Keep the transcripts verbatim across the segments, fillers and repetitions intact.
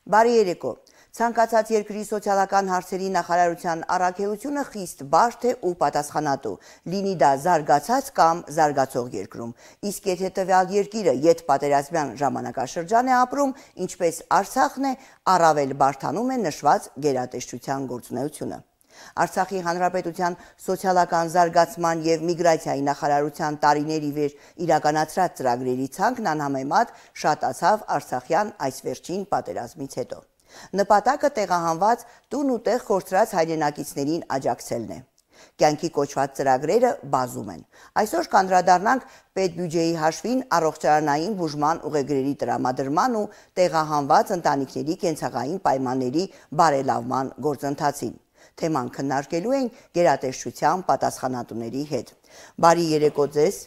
Բարի երեկո։ Ցանկացած երկրի սոցիալական հարցերի նախարարության առաքելությունը խիստ բարդ է ու պատասխանատու, լինի դա զարգացած կամ զարգացող երկրում։ Իսկ եթե տվյալ երկիրը ետպատերազմյան ժամանակաշրջան է ապրում, ինչպես Արցախն է, առավել բարդանում է նշված գերատեսչության գործունեությունը։ Արցախի Հանրապետության սոցիալական զարգացման և միգրացիայի նախարարության տարիների վեր իրականացրած ծրագրերի ցանկն անհամեմատ շատացավ Արցախյան այս վերջին պատերազմից հետո։ Նպատակը տեղահանված տուն ու տեղ կորցրած հայրենակիցներին աջակցելն է։ Կյանքի կոչված ծրագրերը բազում են։ Այսօր կանդրադառնանք պետբյուջեի հաշվին առողջարանային բուժման ուղեգրերի տրամադրման ու տեղահանված ընտանիքների կենցաղային պայմանների բարելավման գործընթացին։ Թեման քննարկելու են գերատեսչության պատասխանատուների հետ։ Բարի երեկո ձեզ։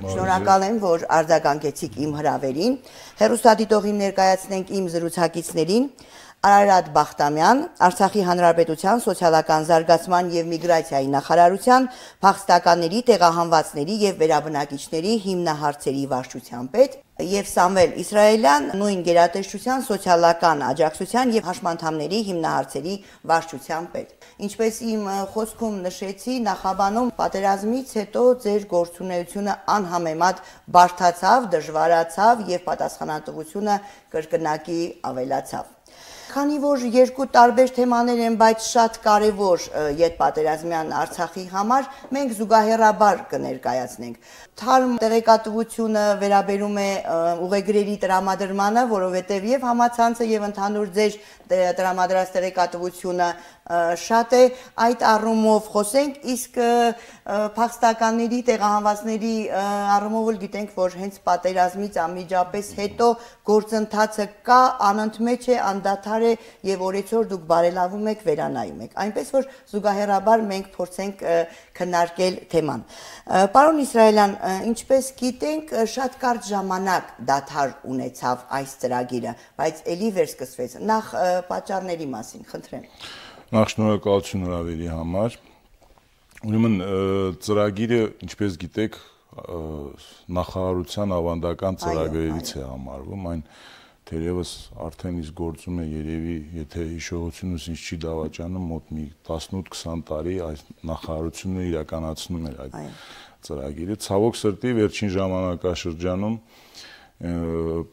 Շնորհակալ եմ, որ արձագանքեցիք իմ հրավերին։ Հեռուստադիտողին ներկայացնենք իմ զրուցակիցներին Արարատ Բախտամյան, Արցախի Հանրապետության սոցիալական զարգացման և միգրացիայի նախարարության փախստականների, տեղահանվածների և վերաբնակիչների հիմնահարցերի վարչության պետ, և Սամվել Իսրայելյան, նույն գերատեսչության սոցիալական աջակցության և հաշմանդամների հիմնահարցերի վարչության պետ։ Ինչպես իմ խոսքում նշեցի, նախաբանում պատերազմից հետո ձեր գործունեությունը անհամեմատ բարդացավ, դժվարացավ և պատասխանատվությունը կրկնակի ավելացավ։ Քանի որ երկու տարբեր թեմաներ են, բայց շատ կարևոր ետպատերազմյան Արցախի համար, մենք զուգահեռաբար կներկայացնենք։ Թարմ տեղեկատվությունը վերաբերում է ուղեգրերի տրամադրմանը, որովհետև և համացանցը և ընդհանուր ձեր տրամադրած տեղեկատվությունը շատ է, այդ առումով խոսենք, իսկ փախստականների, տեղահանվածների առումով էլ գիտենք, որ հենց պատերազմից անմիջապես հետո գործընթացը կա, անընդմեջ է, անդադար է և օրեցօր դուք բարելավում եք, վերանայում եք, այնպես որ զուգահեռաբար մենք փորձենք քննարկել թեման։ Պարոն Իսրայելյան, ինչպես գիտենք, շատ կարճ ժամանակ դադար ունեցավ այս ծրագիրը, բայց էլի վերսկսվեց։ Նախ պատճառների մասին, խնդրեմ։ Նախ շնորհակալություն հրավերի համար։ Ուրեմն ծրագիրը, ինչպես գիտեք, նախարարության ավանդական ծրագրերից է համարվում, այն թերևս արդեն իսկ գործում է երևի, եթե հիշողությունս ինձ չի դավաճանում, մոտ մի տասնութ-քսան տարի այս նախարարությունը իրականացնում էր այդ ծրագիրը։ Ցավոք սրտի վերջին ժամանակաշրջանում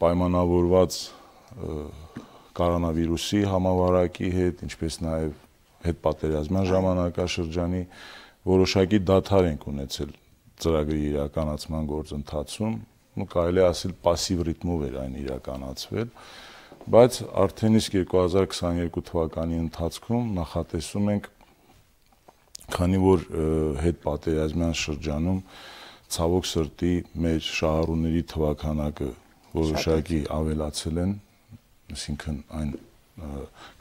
պայմանավորված կորոնավիրուսի համավարակի հետ, ինչպես նաև հետպատերազմյան ժամանակաշրջանի որոշակի դադար ենք ունեցել ծրագրի իրականացման գործընթացում, կարելի է ասել պասիվ ռիթմով էր այն իրականացվել, բայց արդեն իսկ երկու հազար քսաներկու թվականի ընթացքում նախատեսում ենք, քանի որ հետպատերազմյան շրջանում ցավոք սրտի մեր շահառուների թվաքանակը որոշակի ավելացել են, այսինքն այն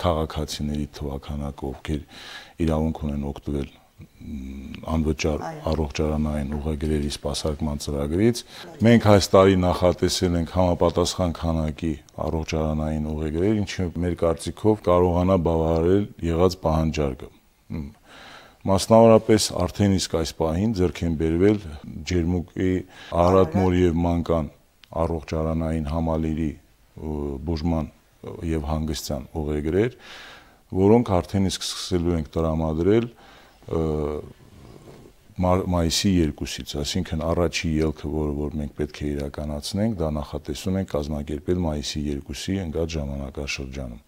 քաղաքացիների թվաքանակը, ովքեր իրավունք ունեն օգտվել անվճար առողջարանային ուղեգրերի սպասարկման ծրագրից, մենք այս տարի նախատեսել ենք համապատասխան քանակի առողջարանային ուղեգրեր, ինչը մեր կարծիքով կարողանա բավարարել եղած պահանջարկը։ Մասնավորապես արդեն իսկ այս պահին ձեռք են բերվել Ջերմուկի, Արարատ-Մոր և Մանկան առողջարանային համալիրի բուժման և հանգստյան ուղեգրեր, որոնք արդեն իսկ սկսելու ենք տրամադրել մայիսի երկուսից, այսինքն առաջի ելքը, որը որ մենք պետք է իրականացնենք, դա նախատեսում ենք կազմակերպել մայիսի երկուսի ընկած ժամանակաշրջանում։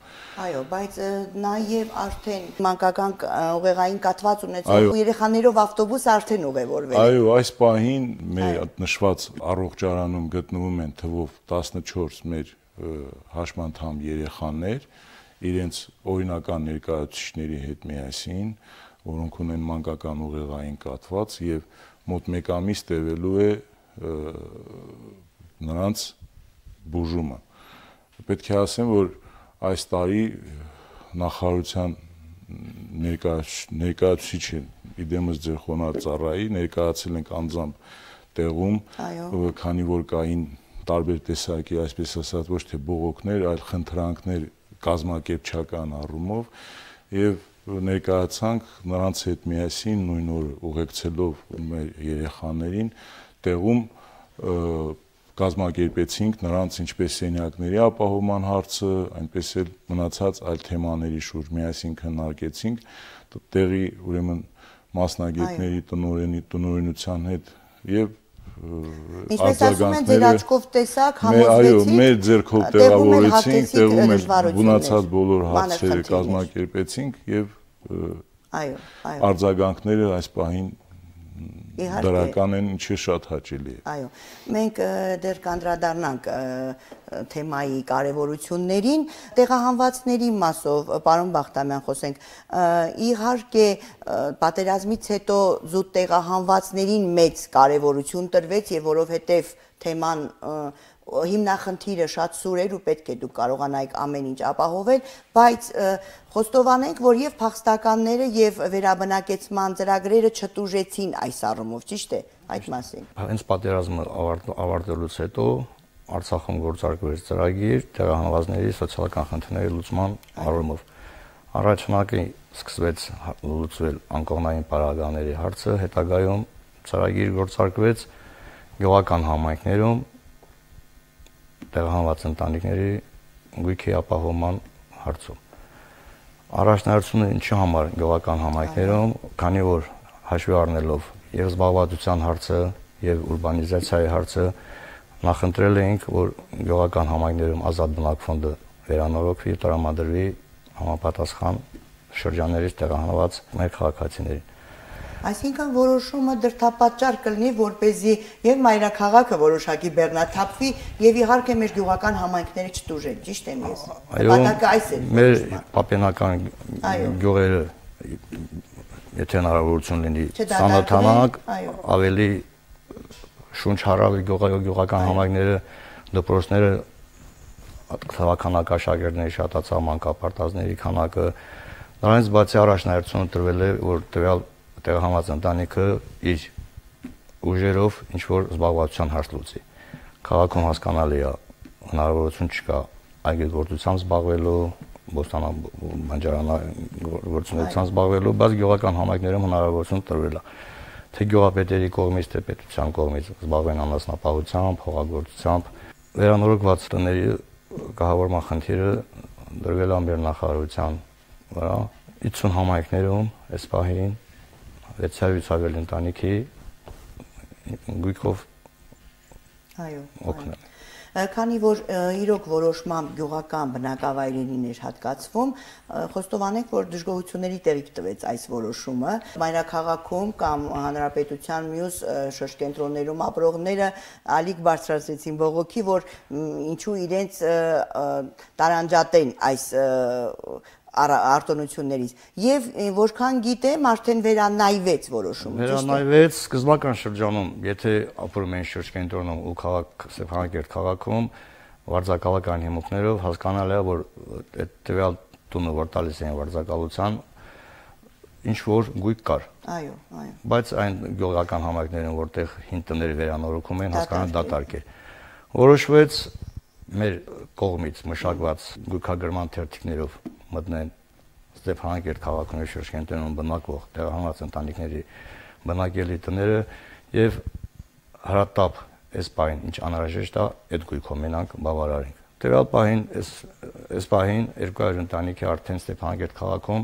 Այո, բայց նաև արդեն մանկական ուղեղային կաթված ունեցող երեխաներով ավտոբուս արդեն ուղևորվել է։ Այո, այս պահին մեր նշված առողջարանում գտնվում են թվով տասնչորս մեր հաշմանդամ երեխաներ, իրենց օրինական ներկայացուցիչների հետ միասին, որոնք ունեն մանկական ուղեղային կաթված և մոտ մեկ ամիս տևելու է նրանց բուժումը։ Պետք է ասեմ, որ այս տարի նախարարության ներկայացուցիչը, իդեմս ձեր խոնարհ ծառայի, ներկայացել ենք անձամբ տեղում, քանի որ կային տարբեր տեսակի, այսպես ասած, ոչ թե բողոքներ, այլ խնդրանքներ կազմակերպչական առումով և ներկայացանք նրանց հետ միասին նույն օրը ուղեկցելով մեր երեխաներին տեղում կազմակերպեցինք նրանց ինչպես սենյակների ապահովման հարցը, այնպես էլ մնացած այլ թեմաների շուրջ միասին քննարկեցինք, տեղի ուրեմն մասնագետների տնօրենի տնօրենության հետ եւ Ինչպես ասում են, ձեր աչքով տեսակ, համոզվեցիք։ Այո, մեր ձեռքով տեղավորեցինք, տեղում էլ մնացած բոլոր հարցերը կազմակերպեցինք եւ այո, այո։ Արձագանքները այս պահին դրական են, ինչը շատ հաճելի է։ Այո, մենք դեռ կանդրադառնանք թեմայի կարևորություններին, տեղահանվածների մասով, պարոն Բախտամյան, խոսենք, իհարկե պատերազմից հետո զուտ տեղահանվածներին մեծ կարևորություն տրվեց եւ որովհետեւ թեման հիմնախնդիրը շատ սուր էր ու պետք է դուք կարողանայիք ամեն ինչ ապահովել, բայց խոստովանենք, որ եւ փախստականները եւ վերաբնակեցման ծրագրերը չտուժեցին այս առումով, ճիշտ է, այդ մասին։ Հենց պատերազմը ավարտելուց հետո Արցախում գործարկվեց ծրագիր տեղահանվածների սոցիալական խնդիրների լուծման առումով։ Առաջնակի սկսվեց լուծվել անկողնային պարագաների հարցը, հետագայում ծրագիր գործարկվեց գյուղական համայնքներում տեղահանված ընտանիքների գույքի ապահովման հարցում։ Առաջնահերթությունը ինչի համար գյուղական համայնքներում, քանի որ հաշվի առնելով եւ զբաղվածության հարցը եւ ուրբանիզացիայի հարցը, նախընտրել էինք, որ գյուղական համայնքներում ազատ բնակ ֆոնդը վերանորոգվի, տրամադրվի համապատասխան շրջաններից տեղահանված մեր քաղաքացիներին։ Այսինքն որոշումը դրդապատճառ կլինի, որպեսզի եւ մայրաքաղաքը որոշակի բեռնաթափվի եւ իհարկե մեր գյուղական համայնքները չտուժեն, ճիշտ եմ ես։ Նպատակը այս է։ Մեր պապենական գյուղերը, եթե հնարավորություն լինի, ծանոթանանք, ավելի շունչ հարավ գյուղական համայնքները, դպրոցները, քաղաքանակաշակերտների շատացավ, մանկապարտազների քանակը, նրանից բացի առաջնահերթությունը տրվել է, որ տվյալ տեղահանված ընտանիքը իր ուժերով ինչ-որ զբաղվածության հարց լուծի։ Քաղաքում հասկանալի է, հնարավորություն չկա այգեգործությամբ զբաղվելու, բոստանաբանջարանագործունեությամբ զբաղվելու, բայց գյուղական համայնքներում հնարավորություն տրվել է։ Թե գյուղապետերի կողմից, թե պետության կողմից զբաղվեն անասնապահությամբ, հողագործությամբ։ Վերանորոգված տների կահավորման խնդիրը դրվել է մեր նախարարության վրա։ ութ համայնքներում այս պահին վեց հարյուր ավելի ընտանիքի գույքով օգնել։ Քանի որ իրոք որոշմամբ գյուղական բնակավայրերին էր հատկացվում, խոստովանենք, որ դժգոհությունների տեղիք տվեց այս որոշումը։ Մայրաքաղաքում կամ հանրապետության մյուս շրջկենտրոններում ապրողները ալիք բարձրացրեցին բողոքի, որ ինչու իրենց տարանջատեն այս արտոնություններից եւ որքան գիտեմ արդեն վերանայվեց որոշումը, ճիշտ է։ Վերանայվեց սկզբնական շրջանում, եթե ապրում են շրջկենտրոնում ու քաղաք Ստեփանակերտ քաղաքում վարձակալական հիմունքներով հասկանալի է, որ այդ տվյալ տունը, որ տալիս են վարձակալության, ինչ որ գույք կար։ Այո, այո։ Բայց այն գյուղական համայնքներում, որտեղ հին տները վերանորոգում են, հասկանալի դատարկ էր։ Որոշվեց մեր կողմից մշակված գույքագրման թերթիկներով մտնեն Ստեփանակերտ քաղաքում եւ շրջկենտրոնում բնակվող տեղահանված ընտանիքների բնակելի տները եւ հարատապ այս պահին ինչ անհրաժեշտ է այդ գույքով մենանք բավարարենք։ Տվյալ պահին այս այս պահին երկու հարյուր ընտանիքի արդեն Ստեփանակերտ քաղաքում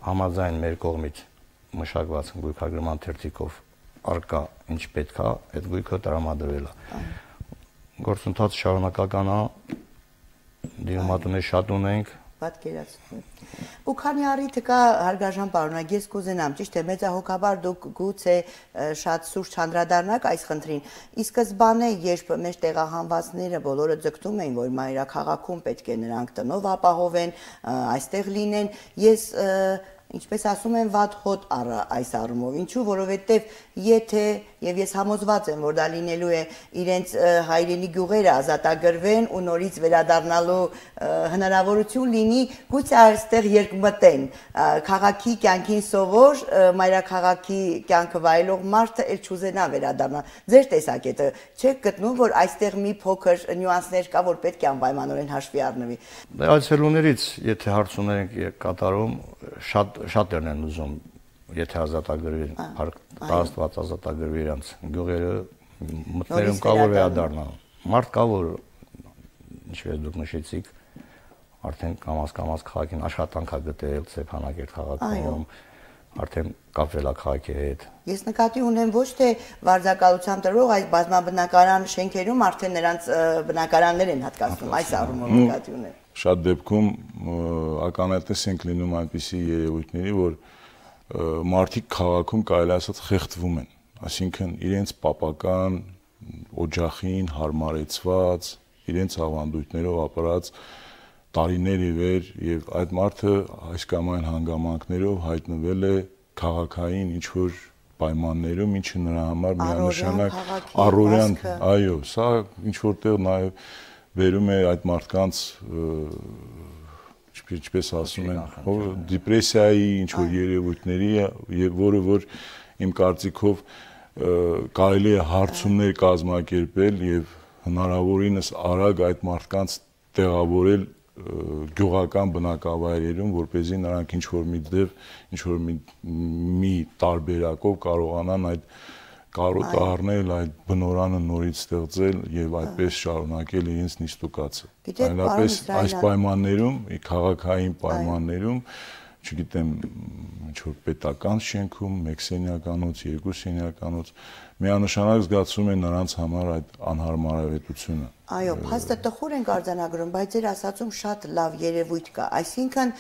համաձայն մեր կողմից մշակված գույքագրման թերթիկով արկա ինչ պետք է, այդ գույքը տրամադրվել է։ Գործընթացը շարունակական է, դիմատներ շատ ունենք, պատկերացնում։ Ու քանի առիթը կա, հարգարժան պարոնակ, ես կուզենամ, ճիշտ է, մեծահոգաբար դուք գուցե շատ սուրճ չանդրադառնաք այս խնդրին։ Ի սկզբանե, երբ մեր տեղահանվածները բոլորը ձգտում էին, որ մայրաքաղաքում պետք է նրանք տնով ապահովեն, այստեղ լինեն, ես ինչպես ասում են, վատ հոտ այս առումով։ Ինչու, որովհետև եթե եւ ես համոզված եմ, որ դա լինելու է իրենց հայրենի գյուղերը ազատագրվեն ու նորից վերադառնալու հնարավորություն լինի, գուցե այստեղ երկմտեն քաղաքի կյանքին սովոր, մայրաքաղաքի կյանքը վայելող մարդը էլ չուզենա վերադառնալ։ Ձեր տեսակետը չեք գտնում, որ այստեղ մի փոքր նյուանսներ կա, որ պետք է անպայմանորեն հաշվի առնվի։ Դե այցելուներից, եթե հարցումներ ենք կատարում, շատ շատերն են ուզում, եթե ազատագրվի, տարածված ազատագրվի իրանց գյուղերը, մտներում կա որ վերադառնա։ Մարդ կա որ ինչպես դուք նշեցիք, արդեն կամաց-կամաց քաղաքին աշխատանք է գտել Ստեփանակերտ քաղաքում, արդեն կապվել է քաղաքի հետ։ Ես նկատի ունեմ ոչ թե վարձակալությամբ տրվող, այլ բազմաբնակարան շենքերում արդեն նրանց բնակարաններ են հատկացնում, այս առումով նկատի ունեմ։ Շատ դեպքում ականատես ենք լինում այնպիսի երևույթների, որ մարդիկ քաղաքում կարելի ասած խեղդվում են, այսինքն իրենց պապական օջախին հարմարեցված, իրենց ավանդույթներով ապրած տարիներ ի վեր եւ այդ մարդը այս կամ այն հանգամանքներով հայտնվել է քաղաքային ինչ որ պայմաններում, ինչը նրա համար միանշանակ առօրյան, այո, սա ինչ որտեղ նաեւ վերում է այդ մարդկանց ինչպես ասում են, դեպրեսիայի ինչ որ երևույթների եւ որը որ իմ կարծիքով կարելի է հարցումներ կազմակերպել եւ հնարավորինս արագ այդ մարդկանց տեղավորել գյուղական բնակավայրերում, որպեսզի նրանք ինչ որ մի դեպ, ինչ որ մի մի տարբերակով կարողանան այդ կարոտը առնել, այդ բնորանը նորից ստեղծել եւ այդպես շարունակել իրենց նիստուկացը։ Այնպես այս պայմաններում, քաղաքային պայմաններում, չգիտեմ, ինչ որ պետական շենքում, մեկ սենյականոց, երկու սենյականոց, միանշանակ զգացում է նրանց համար այդ անհարմարավետությունը։ Այո, փաստը տխուր ենք արձանագրում, բայց ձեր ասածում շատ լավ երևույթ կա, այսինքն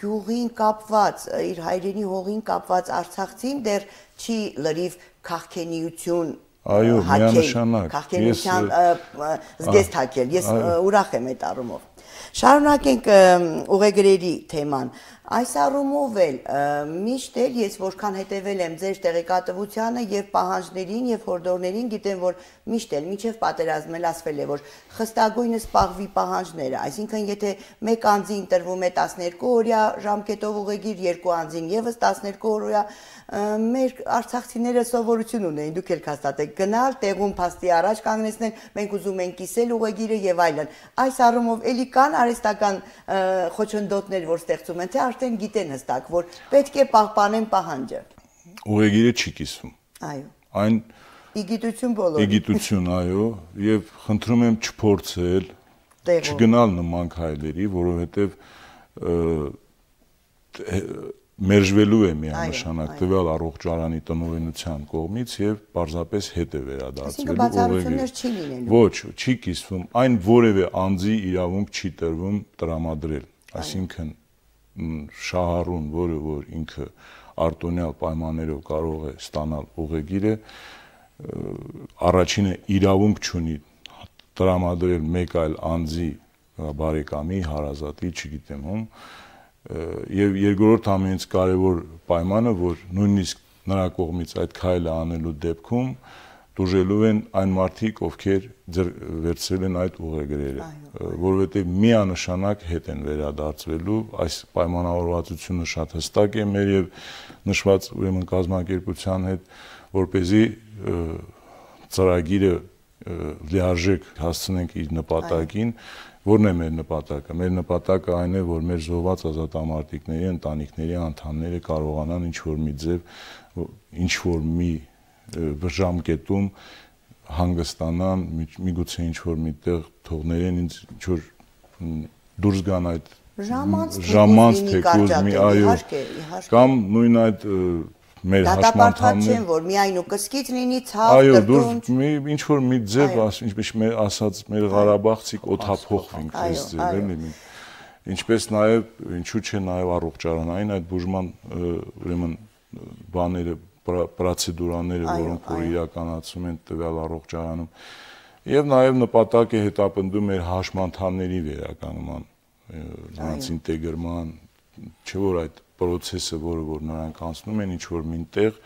գյուղին կապված, իր հայրենի հողին կապված արցախցին դեռ չի լրիվ քաղաքենիություն այո, միանշանակ, քաղաքենիության զգեստ հակել, ես ուրախ եմ այդ առումով։ Շարունակենք ուղեգրերի թեման։ Այս առումով էլ միշտ էլ ես որքան հետևել եմ ձեր տեղեկատվությանը եւ պահանջներին եւ հորդորներին, գիտեմ որ միշտ էլ միջև պատերազմել ասվել է որ խստագույնս պահվի պահանջները, այսինքն եթե մեկ անձին տրվում է տասներկու օրյա ժամկետով ուղեգիր, երկու անձին եւս տասներկու օրյա, մեր արցախցիները սովորություն ունեն, դուք էլ հաստատեք գնալ, տեղում փաստի առաջ կանգնեցնել, մենք ուզում ենք կիսել ուղեգիրը եւ այլն։ Այս առումով էլի կան արհեստական խոչընդոտներ, որ ստեղծում են, թե արդեն գիտեն հստակ, որ պետք է պահպանեն պահանջը։ Ուղեգիրը չի կիսվում։ Այո։ Այն իգիտություն բոլորի։ Իգիտություն, այո, եւ խնդրում եմ չփորձել, չգնալ նման քայլերի, որովհետեւ մերժվելու է միանշանակ տվյալ առողջարանի տնօրինության կողմից եւ պարզապես հետ է վերադարձվելու ուղեգիրը։ Ոչ, չի կիսվում, այն որևէ անձի իրավունք չի տրվում տրամադրել, այսինքն շահառուն, որը որ ինքը արտոնյալ պայմաններով կարող է ստանալ ուղեգիրը, առաջինը իրավունք չունի տրամադրել մեկ այլ անձի բարեկամի, հարազատի, չգիտեմ ում, եւ երկրորդ ամենից կարեւոր պայմանը, որ նույնիսկ նրա կողմից այդ քայլը անելու դեպքում դժվարելու են այն մարդիկ, ովքեր վերցրել են այդ ուղեգրերը, որովհետեւ միանշանակ հետ են վերադարձվելու, այս պայմանավորվածությունը շատ հստակ է մեր եւ նշված ուրեմն կազմակերպության հետ, որպեսզի ծրագիրը լիարժեք հասցնենք իր նպատակին, որն է մեր նպատակը։ Մեր նպատակը այն է, որ մեր զոհված ազատամարտիկների ընտանիքների անդամները կարողանան ինչ որ մի ձև, ինչ որ մի ժամկետում հանգստանան, միգուցե ինչ որ միտեղ թողներեն ինձ ինչ որ դուրս գան այդ ժամանց թեկուզ մի այո կամ նույն այդ մեր հաշմանդամները չեն որ միայն ու կսկից լինի ցավ այո դուրս մի ինչ որ մի ձև ինչպես մեր ասած մեր Ղարաբաղցիք օթափողվենք այս ձև էլի ինչպես նաև ինչու՞ չէ նաև առողջարանային այդ բուժման ուրեմն բաները պրոցեդուրաները որոնք որ իրականացում են տվյալ առողջարանում եւ նաև նպատակ է հետապնդում մեր հաշմանդամների վերականգնման նրանց ինտեգրման չէ որ այդ process-ը, որը որ նրանք անցնում են, ինչ որ մինտեղ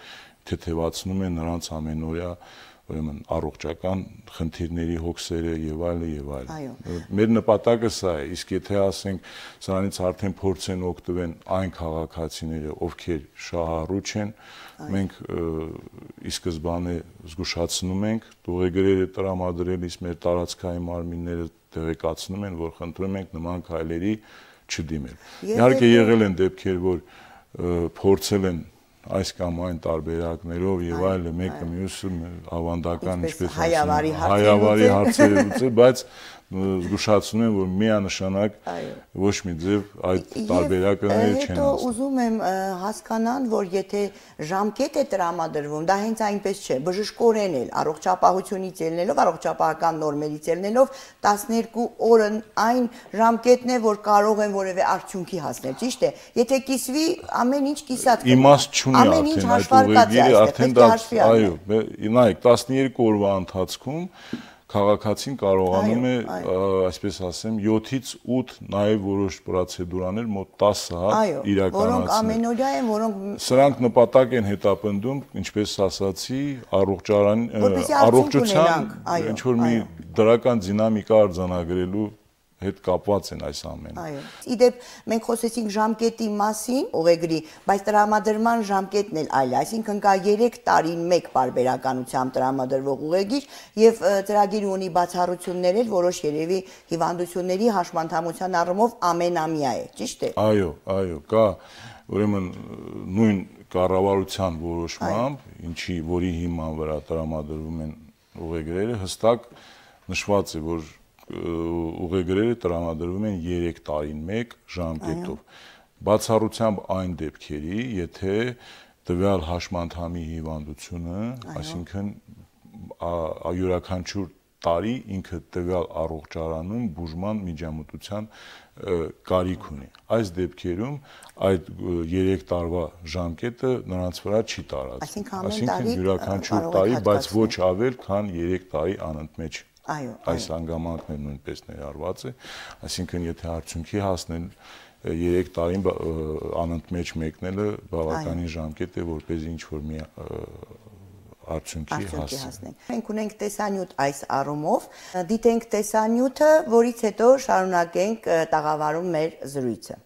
թեթևացնում են նրանց ամենօրյա, ուրեմն առողջական խնդիրների հոգսերը եւ այլը եւ այլն։ Մեր նպատակը սա է, իսկ եթե ասենք սրանից արդեն փորձեն օգտվեն այն քաղաքացիները, ովքեր շահառու չեն, մենք ի սկզբանե զգուշացնում ենք, ուղեգրերը տրամադրելիս մեր տարածքային մարմինները տեղեկացնում են, որ խնդրում ենք նման քայլերի չդիմել։ Իհարկե եղել են դեպքեր, որ փորձել են այս կամ այն տարբերակներով եւ այլն մեկը մյուսը ավանդական ինչպես հայավարի հարցեր լուծել, բայց զգուշացնում եմ, որ միանշանակ ոչ մի ձև այդ տարբերակները չեն ասում։ Հետո ուզում եմ հասկանալ, որ եթե ժամկետ է տրամադրվում, դա հենց այնպես չէ, բժշկորեն էլ առողջապահությունից ելնելով, առողջապահական նորմերից ելնելով տասներկու օրը այն ժամկետն է, որ կարող են որևէ արդյունքի հասնել, ճիշտ է։ Եթե կիսվի, ամեն ինչ կիսած կմնա։ Իմաստ չունի արդեն այդ ուղեգիրը, արդեն դա, այո, նայեք, տասներկու օրվա ընթացքում քաղաքացին կարողանում է, այսպես ասեմ, յոթից ութ նաև որոշ պրոցեդուրաներ մոտ տասը հատ իրականացնել։ Որոնք ամենօրյա են, որոնք սրանք նպատակ են հետապնդում, ինչպես ասացի, առողջության ինչ որ մի դրական դինամիկա արձանագրելու հետ կապված են այս ամենը։ Այո։ Իդեպ մենք խոսեցինք ժամկետի մասին, ուղեգրի, բայց տրամադրման ժամկետն էլ այլ է, այսինքն կա երեք տարին մեկ պարբերականությամբ տրամադրվող ուղեգիր եւ ծրագիրը ունի բացառություններ էլ, որոշ երևի հիվանդությունների հաշմանդամության առումով ամենամյա է, ճիշտ է։ Այո, այո, կա ուրեմն նույն կառավարության որոշմամբ, ինչի որի հիման վրա տրամադրվում են ուղեգրերը, հստակ նշված է, որ ուղեգրերը տրամադրվում են երեք տարին մեկ ժամկետով։ Բացառությամբ այն դեպքերի, եթե տվյալ հաշմանդամի հիվանդությունը, այսինքն յուրաքանչյուր տարի ինքը տվյալ առողջարանում բուժման միջամտության կարիք ունի։ Այս դեպքերում այդ երեք տարվա ժամկետը նրանց վրա չի տարածվում։ Այսինքն յուրաքանչյուր տարի, բայց ոչ ավել, քան երեք տարի անընդմեջ։ Այս հանգամանքն նույնպես ներառված է, այսինքն եթե արդյունքի հասնել երեք տարին անընդմեջ մեկնելը բավականին ժամկետ է, որպեսզի ինչ-որ մի արդյունքի հասնի։ Մենք ունենք տեսանյութ այս առումով, դիտենք տեսանյութը, որից հետո շարունակենք տաղավարում մեր զրույցը։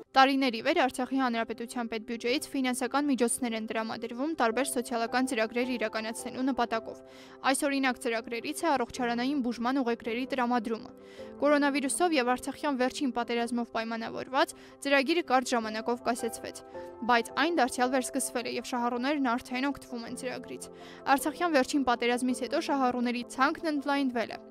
Տարիների վեր Արցախի Հանրապետության պետբյուջեից ֆինանսական միջոցներ են տրամադրվում տարբեր սոցիալական ծրագրեր իրականացնելու նպատակով։ Այս օրինակ ծրագրերից է առողջարանային բուժման ուղեգրերի տրամադրումը։ Կորոնավիրուսով եւ Արցախյան վերջին պատերազմով պայմանավորված ծրագիրը կարճ ժամանակով կասեցվեց, բայց այն դարձյալ վերսկսվել է եւ շահառուներն արդեն օգտվում են ծրագրից։ Արցախյան վերջին պատերազմից հետո շահառուների ցանկն ընդլայնվել է։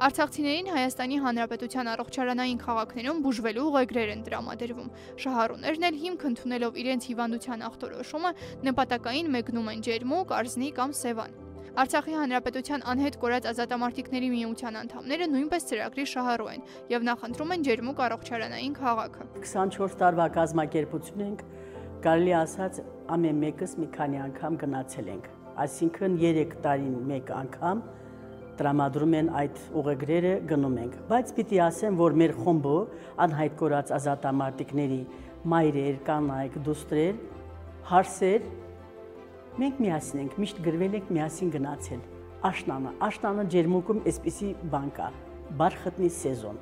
Արցախցիներին Հայաստանի Հանրապետության առողջարանային քաղաքներում բուժվելու ուղեգրեր են տրամադրվում։ Շահառուներն էլ հիմք ընդունելով իրենց հիվանդության ախտորոշումը նպատակային մեկնում են ջերմուկ, արզնի կամ սևան։ Արցախի Հանրապետության անհետ կորած ազատամարտիկների միության անդամները նույնպես ծրագրի շահառու են եւ նախընտրում են ջերմուկ առողջարանային քաղաքը։ քսանչորս տարվա կազմակերպություն ենք, կարելի ասած ամեն մեկս մի քանի անգամ գնացել ենք, այսինքն երեք տարին մեկ անգամ տրամադրում են այդ ուղեգրերը, գնում ենք, բայց պիտի ասեմ, որ մեր խումբը անհայտ կորած ազատամարտիկների մայրեր, կանայք, դուստրեր, հարսեր, մենք միասին ենք, միշտ գրվել ենք միասին գնացել։ Աշնանը, աշնանը ջերմուկում այսպիսի բան կա, բարխտնի սեզոն։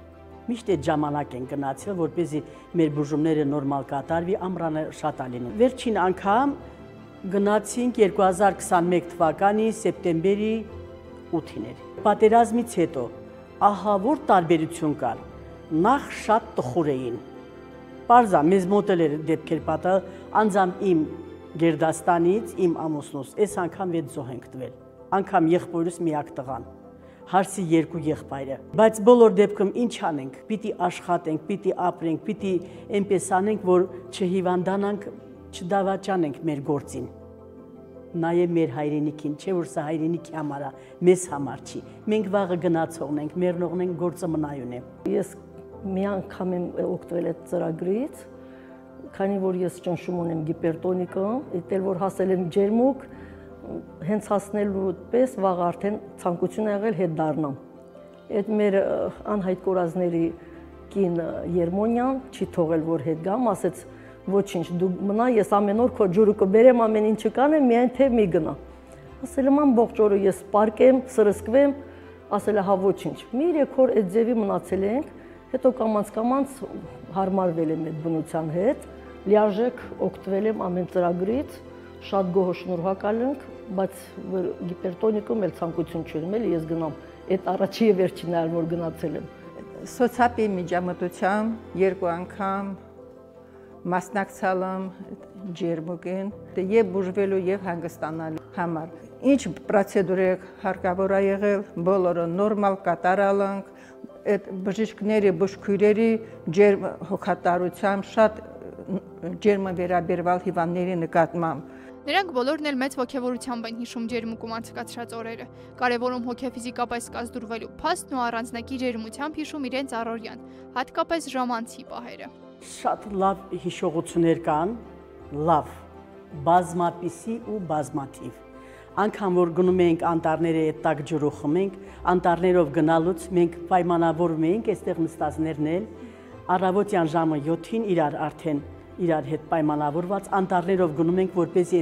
Միշտ այդ ժամանակ են գնացել, որպեսզի մեր բուժումները նորմալ կատարվի, ամռանը շատ է լինում։ Վերջին անգամ գնացինք երկու հազար քսանմեկ թվականի սեպտեմբերի ութին էր։ Պատերազմից հետո ահա որ տարբերություն կար, նախ շատ տխուր էին։ Պարզա մեզ մոտել էր դեպքեր պատահել, անձամբ իմ Գերդաստանից, իմ ամուսնուս, այս անգամ վեց զոհ ենք տվել, անգամ եղբորս միակ տղան, հարսի երկու եղբայրը, բայց բոլոր դեպքում ինչ անենք, պիտի աշխատենք, պիտի ապրենք, պիտի այնպես անենք, որ չհիվանդանանք, չդավաճանենք մեր գործին։ Նաև մեր հայրենիքին, չէ որ սա հայրենիքի համար է, մեզ համար չի։ Մենք վաղը գնացողն ենք, մեռնողն ենք, գործը մնայուն է։ Ես մի անգամ եմ օգտվել այդ ծրագրից, քանի որ ես ճնշում ունեմ գիպերտոնիկը, դեռ որ հասել եմ ջերմուկ, հենց հասնելու պես վաղ արդեն ցանկություն ա եղել հետ դառնամ։ Այդ մեր անհայտ կորածների կին Երմոնյան չի թողել որ հետ գամ, ասեց ոչինչ, դու մնա, ես ամեն օր քո ջուրը կբերեմ, ամեն ինչը կանեմ, միայն թե մի գնա։ Ասել եմ ամբողջ օրը ես պարկեմ, սրսկվեմ, ասել է հա ոչինչ։ Մի երեք օր այդ ձևի մնացել ենք, հետո կամաց-կամաց հարմարվել եմ այդ բնության հետ, լիարժեք օգտվել եմ ամեն ծրագրից, շատ գոհ շնորհակալ ենք, բայց գիպերտոնիկում էլ ցանկություն չունեմ, էլի ես գնամ, այդ առաջի եւ վերջին այլ որ գնացել եմ։ Սոցիալի միջամտությամբ երկու անգամ մասնակցալ եմ ջերմուկին եւ բուժվելու եւ հանգստանալու համար։ Ինչ պրոցեդուր է հարկավոր է եղել, բոլորը նորմալ կատարալ ենք, այդ բժիշկների, բուժքույրերի ջերմ հոգատարությամբ շատ ջերմը վերաբերվալ հիվանդների նկատմամբ։ Նրանք բոլորն էլ մեծ ոգևորությամբ են հիշում ջերմուկում անցկացրած օրերը, կարևորում հոգեֆիզիկապես կազդուրվելու փաստն ու առանձնակի ջերմությամբ հիշում իրենց առօրյան, հատկապես ժամանցի պահերը։ Շատ լավ հիշողություններ կան, լավ, բազմապիսի ու բազմաթիվ։ Անկամ որ գնում ենք անտառները այդ տակ ջրու խմենք, անտառներով գնալուց մենք պայմանավորում ենք այստեղ նստածներն էլ, առավոտյան ժամը յոթին իրար արդեն իրար հետ պայմանավորված անտառներով գնում ենք, որպեսզի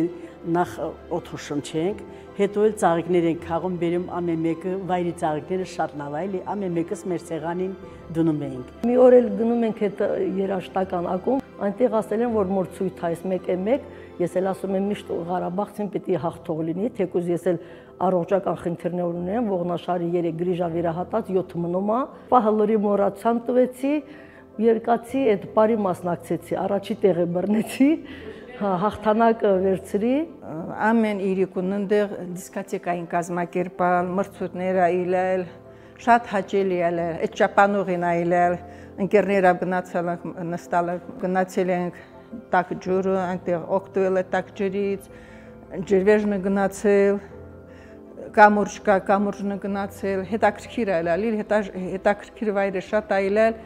նախ օդը շնչենք, հետո էլ ծաղիկներ ենք քաղում, բերում ամեն մեկը, վայրի ծաղիկները շատ լավ է, ամեն մեկս մեր սեղանին դնում ենք։ Մի օր էլ գնում ենք այդ երաշտական ակումբ, այնտեղ ասել են, որ մոր ցույց այս մեկ է մեկ, ես էլ ասում եմ միշտ Ղարաբաղցին պիտի հաղթող լինի, թեկուզ ես էլ առողջական խնդիրներ ունեմ, ողնաշարի երեք գրիժա վերահատած յոթ մնում է, պահը լրի մոռացան տվեցի, երկացի այդ բարի մասնակցեցի, առաջի տեղը բռնեցի, հաղթանակը վերցրի։ Ամեն իրիկուն ընդեղ դիսկոտեկային կազմակերպալ, մրցույթներ այլել, շատ հաճելի է, այդ ճապանուղին այլել, ընկերներով գնացել ենք, նստալ գնացել ենք տաք ջուրը, այնտեղ օգտվել է տաք ջրից, ջրվեժնը գնացել, կամուրջ կա, կամուրջնը գնացել, հետաքրքիր է այլել, հետաքրքիր վայրը շատ այլել,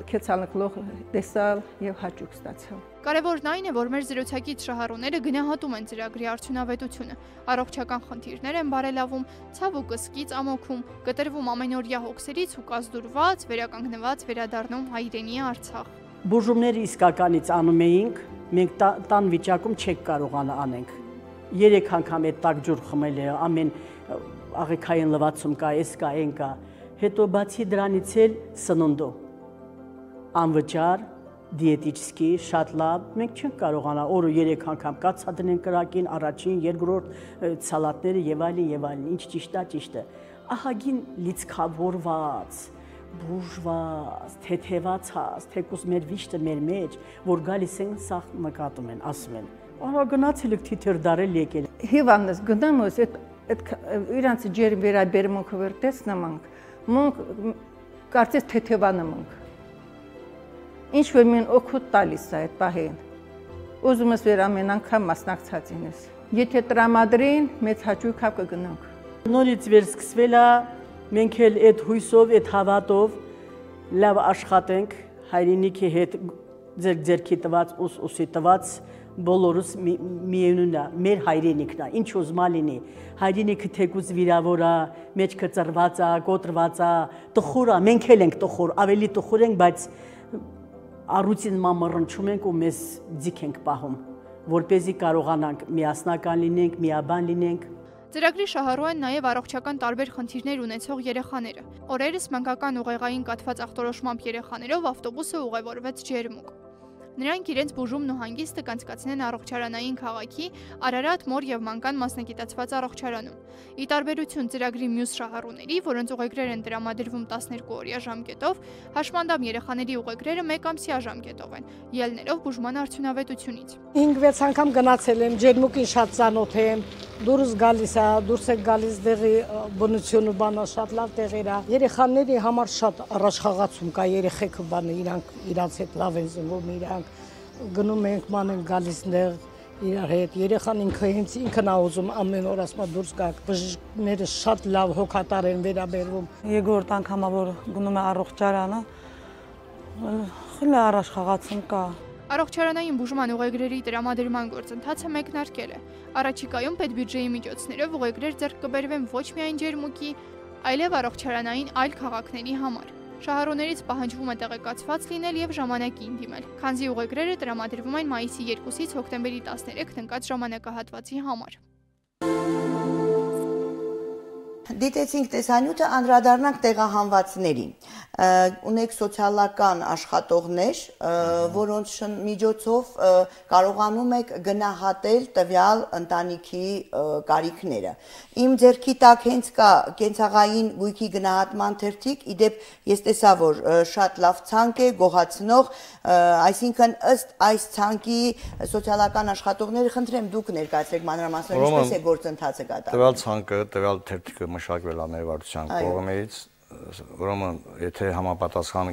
քեցալնքլող տեսալ եւ հաճույք ստացալ։ Կարևորն այն է, որ մեր զրուցակից շահառուները գնահատում են ծրագրի արդյունավետությունը, առողջական խնդիրներ են բարելավում, ցավ ու կսկից ամոքում, կտրվում ամենօրյա հոգսերից ու կազդուրված, վերականգնված վերադառնում հայրենի Արցախ։ Բուժումները իսկականից անում էինք, մենք տան վիճակում չենք կարողանա անենք։ Երեք անգամ այդ տաք ջուր խմել է, ամեն աղիքային լվացում կա, էս կա, այն կա։ Հետո բացի դրանից էլ սնունդը անվճար, դիետիչսկի, շատ լավ, մենք չենք կարողանա օրը երեք անգամ կացա դնենք կրակին, առաջին, երկրորդ սալատները եւ այլն եւ այլն, ինչ ճիշտ է, ճիշտ է։ Ահագին լիցքավորված, բուժված, թեթևացած, թեկուզ մեր վիշտը մեր մեջ, որ գալիս են սա նկատում են, ասում են։ Արա գնացել եք թիթեր դարել եկել։ Հիվանդս գնամ ոս այդ իրանց ջերմ վերաբերմունքը վերտեսնամ ենք, մենք կարծես թեթևանում ենք։ Ինչ որ մեն օգուտ տալիս է այդ պահին։ Ուզում ես վեր ամեն անգամ մասնակցած ինես։ Եթե տրամադրին, մեծ հաճույքով կգնանք։ Նորից վերսկսվել է, մենք էլ այդ հույսով, այդ հավատով լավ աշխատենք, հայրենիքի հետ ձեր ձերքի տված, ուս ուսի տված, բոլորս միևնույնն է, մեր հայրենիքն է, ինչ ուզմա լինի։ Հայրենիքը թեկուզ վիրավոր է, մեջքը ծռված է, կոտրված է, տխուր է, մենք էլ ենք տխուր, ավելի տխուր ենք, բայց առուտին մամռնչում ենք ու մեզ ձիք ենք պահում, որպեսզի կարողանանք միասնական լինենք, միաբան լինենք։ Ծրագրի շահառու են նաև առողջական տարբեր խնդիրներ ունեցող երեխաները։ Օրերս մանկական ուղեղային կաթված ախտորոշմամբ երեխաներով ավտոբուսը ուղևորվեց ջերմուկ։ Նրանք իրենց բուժումն ու հանգիստը կանցկացնեն առողջարանային քաղաքի Արարատ մոր եւ մանկան մասնագիտացված առողջարանում։ Ի տարբերություն ծրագրի մյուս շահառուների, որոնց ուղեգրեր են տրամադրվում տասներկու օրյա ժամկետով, հաշմանդամ երեխաների ուղեգրերը մեկ ամսյա ժամկետով են, ելնելով բուժման արդյունավետությունից։ հինգ-վեց անգամ գնացել եմ, ջերմուկին շատ ծանոթ եմ, դուրս գալիս է, դուրս է գալիս դեղի բնությունը բանը շատ լավ տեղեր է։ Երեխաների համար շատ առաջխաղացում կա, երեխեքը բանը իրանք իրանց հետ լավ են զնվում, իրանք գնում ենք ման են գալիս դեղ իրար հետ, երեխան ինքը հենց ինքն է ուզում ամեն օր ասма դուրս գաք, բժիշկները շատ լավ հոգատար են վերաբերվում։ Երկրորդ անգամա որ գնում է առողջարանը, խիլ առաջխաղացում կա։ Առողջարանային բուժման ուղեգրերի տրամադրման գործընթացը մեկնարկել է։ Առաջիկայում պետբյուջեի միջոցներով ուղեգրեր ձեռք կբերվեն ոչ միայն ջերմուկի, այլև առողջարանային այլ քաղաքների համար։ Շահառուներից պահանջվում է տեղեկացված լինել եւ ժամանակին դիմել, քանզի ուղեգրերը տրամադրվում են մայիսի երկուսից հոկտեմբերի տասներեքին ընկած ժամանակահատվածի համար։ Դիտեցինք տեսանյութը, անդրադառնանք տեղահանվածներին։ Ունեք սոցիալական աշխատողներ, որոնց միջոցով կարողանում եք գնահատել տվյալ ընտանիքի կարիքները։ Իմ ձեռքի տակ հենց կա կենցաղային գույքի գնահատման թերթիկ, իդեպ ես տեսա, որ շատ լավ ցանկ է, գոհացնող, այսինքն ըստ այս ցանկի սոցիալական աշխատողները, խնդրեմ դուք ներկայացրեք մանրամասներ, ինչպես է գործընթացը կատարվում։ Տվյալ ցանկը, տվյալ թերթիկը մշակվել է մեր վարչության կողմից, ուրեմն եթե համապատասխան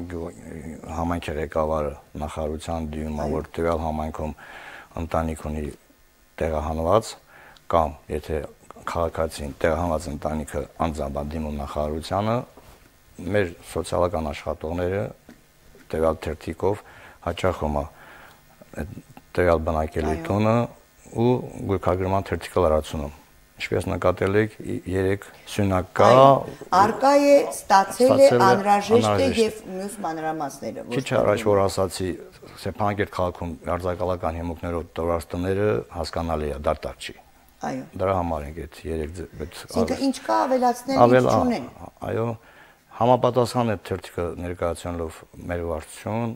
համայնքի ղեկավարը նախարարության դիմում է, որ տվյալ համայնքում ընտանիք ունի տեղահանված, կամ եթե քաղաքացին տեղահանված ընտանիքը անձամբ դիմում նախարարությանը, մեր սոցիալական աշխատողները տվյալ թերթիկով հաճախում է տվյալ բնակելի տունը ու գույքագրման թերթիկը լրացնում։ Ինչպես նկատել եք, երեք սյունակ կա, արկա է, ստացել է, անհրաժեշտ է եւ մյուս մանրամասները։ Քիչ առաջ որ ասացի, Ստեփանակերտ քաղաքում արձակալական հիմունքներով տվյալ տները հասկանալի է, դատարկ չի։ Այո։ Դրա համար ենք այդ երեք Ինքը ինչ կա ավելացնել, ինչ չունեն։ Այո, համապատասխան է թերթիկը ներկայացնելով մեր վարչություն,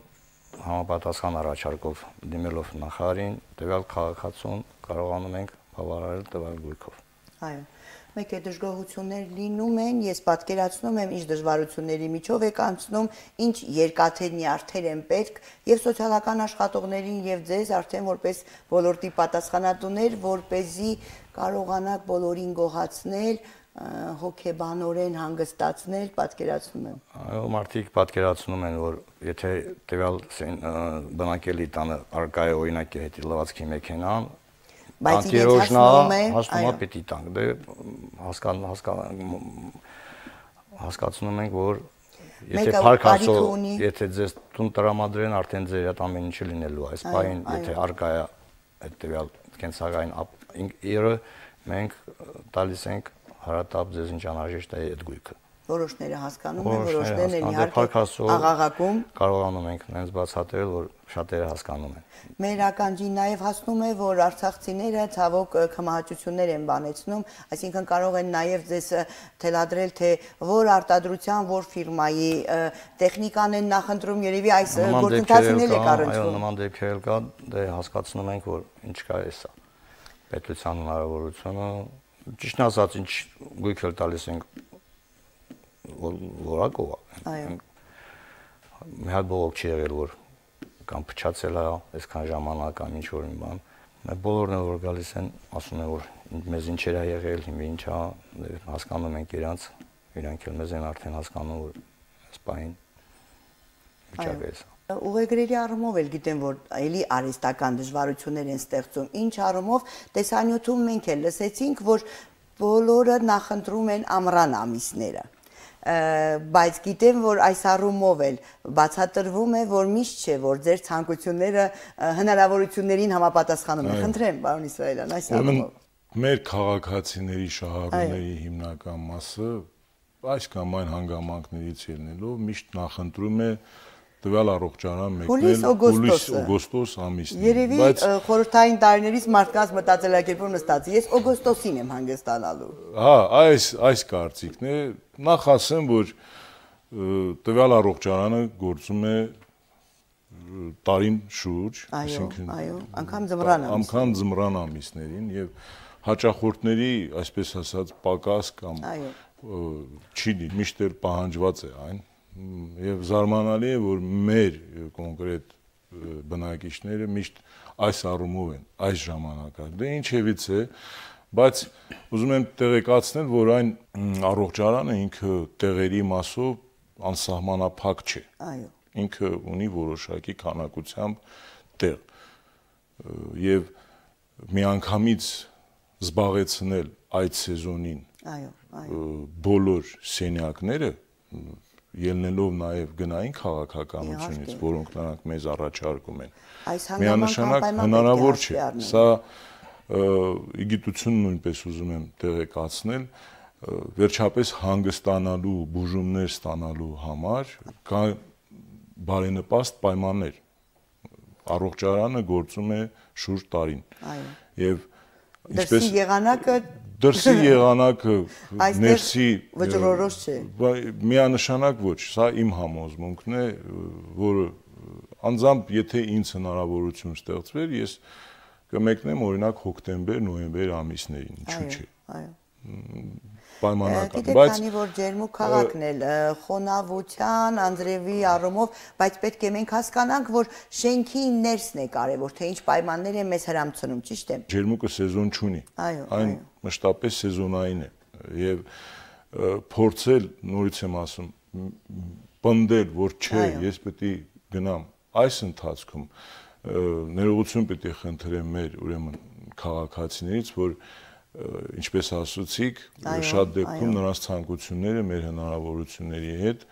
համապատասխան առաջարկով դիմելով նախարարին, տվյալ քաղաքացուն կարողանում ենք բավարարել տվյալ գույքով։ Այո, մեկ է դժգոհություններ լինում են, ես պատկերացնում եմ, ինչ դժվարությունների միջով եք անցնում, ինչ երկաթե նյարդեր են պետք եւ սոցիալական աշխատողներին եւ ձեզ արդեն որպես ոլորտի պատասխանատուներ, որպեսզի կարողանաք բոլորին գոհացնել, հոգեբանորեն հանգստացնել, պատկերացնում եմ։ Այո, մարդիկ պատկերացնում են, որ եթե տվյալ բնակելի տանը արկա է օրինակի հետ լվացքի մեքենան, բայց իրենց հասնում է, հասնում է պիտի տանք, դե հասկացնում ենք, որ եթե փառքասո, եթե ձեզ տուն տրամադրեն, արդեն ձեր հետ ամեն ինչը լինելու է, այս պահին, եթե արկա է այդ տվյալ կենցաղային իրը, մենք տալիս ենք հարատապ ձեզ ինչ անհրաժեշտ է այդ գույքը։ Որոշները հասկանում են, որոշներն են իհարկե աղաղակում, կարողանում ենք նենց բացատրել, որ շատերը հասկանում են։ Մեր ականջին նաև հասնում է, որ արցախցիները ցավոք քմահաճություններ են բանեցնում, այսինքն կարող են նաև ձեզ թելադրել, թե որ արտադրության, որ ֆիրմայի տեխնիկան են նախընտրում, երևի այս գործընթացին էլ է կառուցվում։ Այո, նման դեպքեր կա, դե հասկացնում ենք, որ ինչ կա էսա։ Պետության հնարավորությունը, ճիշտ ասած, ինչ գույք էլ տալիս ենք որակով է։ Մի հատ բողոք չի եղել, որ կամ փչացել է այսքան ժամանակ կամ ինչ որ մի բան։ Մեր բոլորն էլ որ գալիս են, ասում են, որ մեզ ինչեր է եղել, հիմա ինչ է, հասկանում ենք իրանց, իրանք էլ մեզ են արդեն հասկանում, որ այս պահին վիճակը է։ Ուղեգրերի առումով էլ գիտեմ, որ էլի արհեստական դժվարություններ են ստեղծում։ Ինչ առումով տեսանյութում մենք էլ լսեցինք, որ բոլորը նախընտրում են ամռան ամիսները։ Բայց գիտեմ, որ այս առումով էլ բացատրվում է, որ միշտ չէ, որ ձեր ցանկությունները հնարավորություններին համապատասխանում են։ Խնդրեմ, պարոն Իսրայելյան, այս առումով։ Մեր քաղաքացիների շահառուների հիմնական մասը այս կամ այն հանգամանքներից ելնելով միշտ նախընտրում է տվյալ առողջարան մեկնել օգոստոս ամիսին։ Երևի խորհրդային տարիներից մարդկանց մտածելակերպում նստած, ես օգոստոսին եմ հանգստանալու։ Հա, այս այս կարծիքն է, նախ ասեմ, որ տվյալ առողջարանը գործում է տարին շուրջ, այսինքն անգամ ձմռան ամիսներին, անգամ ձմռան ամիսներին եւ հաճախորդների, այսպես ասած, պակաս կամ չի միշտ էլ պահանջված է այն։ Եվ զարմանալի է, որ մեր կոնկրետ բնակիչները միշտ այս առումով են, այս ժամանակակ։ Դե ինչևից է, բայց ուզում եմ տեղեկացնել, որ այն առողջարանը ինքը տեղերի մասով անսահմանափակ չէ։ Այո։ Ինքը ունի որոշակի քանակությամբ տեղ։ Եվ միանգամից զբաղեցնել այդ սեզոնին բոլոր սենյակները, ելնելով նաև գնային քաղաքականությունից, որոնք նրանք մեզ առաջարկում են, միանշանակ հնարավոր չէ։ Սա իգիտություն նույնպես ուզում եմ տեղեկացնել, վերջապես հանգստանալու, բուժումներ ստանալու համար կա բարենպաստ պայմաններ։ Առողջարանը գործում է շուրջ տարին։ Եվ Դրսի եղանակը դրսի եղանակը ներսի վճռորոշ չէ։ Միանշանակ ոչ, սա իմ համոզմունքն է, որը անձամբ եթե ինձ հնարավորություն ստեղծվեր, ես կմեկնեմ օրինակ հոկտեմբեր, նոյեմբեր ամիսներին, ինչու՞ չէ։ Այո։ Պայմանական, բայց քանի որ ջերմուկ քաղաքն էլ խոնավության, անձրևի առումով, բայց պետք է մենք հասկանանք, որ շենքի ներսն է կարևոր, թե ինչ պայմաններ են մեզ հրամցնում, ճիշտ է։ Ջերմուկը սեզոն չունի։ Այն մշտապես սեզոնային է եւ փորձել, նորից եմ ասում, պնդել, որ չէ, ես պետք է գնամ այս ընթացքում ներողություն պետք է խնդրեմ մեր ուրեմն քաղաքացիներից, որ ինչպես ասացիք, շատ դեպքում նրանց ցանկությունները մեր հնարավորությունների հետ